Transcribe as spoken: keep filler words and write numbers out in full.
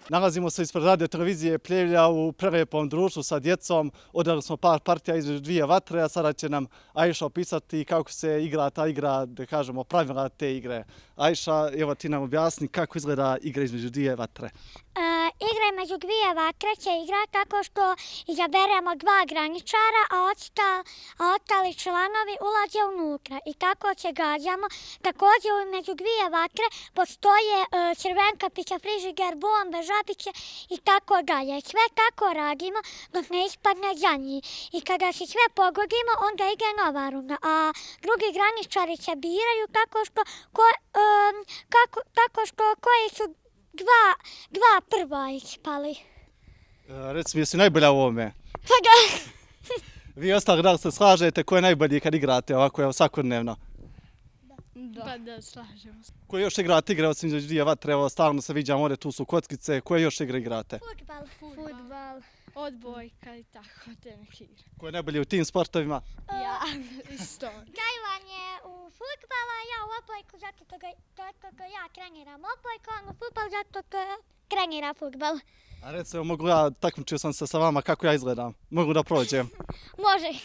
Nalazimo se ispred radio televizije Pljevlja u prelijepom društvu sa djecom. Odrali smo par partija između dvije vatre, a sada će nam Ajša opisati kako se igra ta igra, da kažemo pravila te igre. Ajša, evo ti nam objasni kako izgleda igra između dvije vatre. E, igra između dvije vatre će igra tako što izaberemo dva graničara, a, osta, a ostali članovi ulaze unutra. I kako će gađamo, također među dvije vatre postoje e, crvenka, pića, frižider, bombe, žabiće i tako dalje. Sve tako radimo dok ne ispadne zadnji. I kada se sve pogodimo, onda ide nova runda. A drugi graničari se biraju tako što, ko, e, kako, tako što koji su Dva, dva prva ispali. E, reci mi, jesi najbolja u ovome? Pa da. Vi ostali da li se slažete ko je najbolji kad igrate ovako evo, svakodnevno? Da. Pa da, slažemo se. Koje još igrate igre osim između dvije vatre? Evo, stalno se viđamo ovdje, tu su kockice. Koje još igre igrate? Fudbal, Fudbal, odbojka i tako, te neke igre. Ko je najbolji u tim sportovima? Ja, isto. Gajvanje u fudbala, ja u odbojku zato što ja treniram odbojku, on u fudbal zato što trenira fudbal. A recimo, mogu ja, takmičio sam se sa vama kako ja izgledam. Mogu da prođem? Može.